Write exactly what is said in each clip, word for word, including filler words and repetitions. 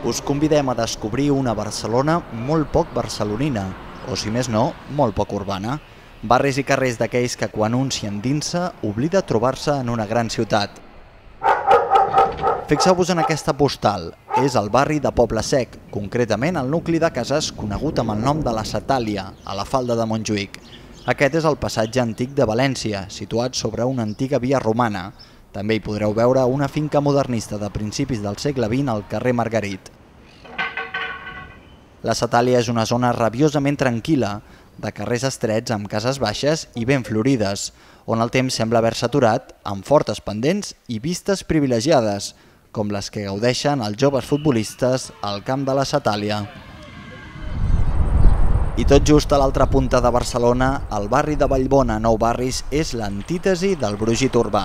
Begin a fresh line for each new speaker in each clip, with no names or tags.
us convidem a descobrir una Barcelona molt poc barcelonina, o si més no, molt poc urbana. Barris i carrers d'aquells que quan un s'hi endinsa oblida trobar-se en una gran ciutat. Fixeu-vos en aquesta postal. És el barri de Poble Sec, concretament el nucli de cases conegut amb el nom de la Satàlia, a la falda de Montjuïc. Aquest és el passatge antic de València, situat sobre una antiga via romana. També hi podreu veure una finca modernista de principis del segle vint al carrer Margarit. La Satàlia és una zona rabiosament tranquil·la, de carrers estrets amb cases baixes i ben florides, on el temps sembla haver-se aturat, amb fortes pendents i vistes privilegiades, com les que gaudeixen els joves futbolistes al camp de la Satàlia. I tot just a l'altra punta de Barcelona, el barri de Vallbona, Nou Barris, és l'antítesi del brogit urbà.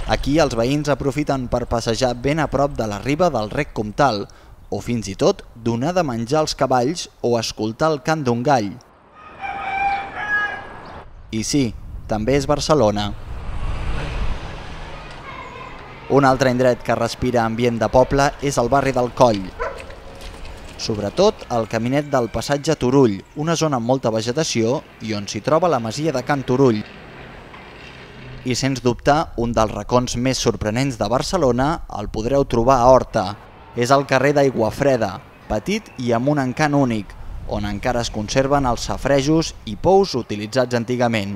Aquí els veïns aprofiten per passejar ben a prop de la riba del Rec Comtal, o fins i tot donar de menjar als cavalls o escoltar el cant d'un gall. I sí, també és Barcelona. Un altre indret que respira ambient de poble és el barri del Coll. Sobretot el caminet del passatge Turull, una zona amb molta vegetació i on s'hi troba la masia de Can Turull. I sens dubte, un dels racons més sorprenents de Barcelona el podreu trobar a Horta. És el carrer d'Aiguafreda, petit i amb un encant únic, on encara es conserven els safaretjos i pous utilitzats antigament.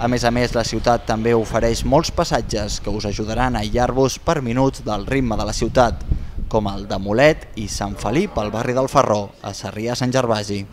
A més a més, la ciutat també ofereix molts passatges que us ajudaran a aïllar-vos per minuts del ritme de la ciutat, com el de Molet i Sant Felip al barri del Ferró, a Sarrià-Sant Gervasi.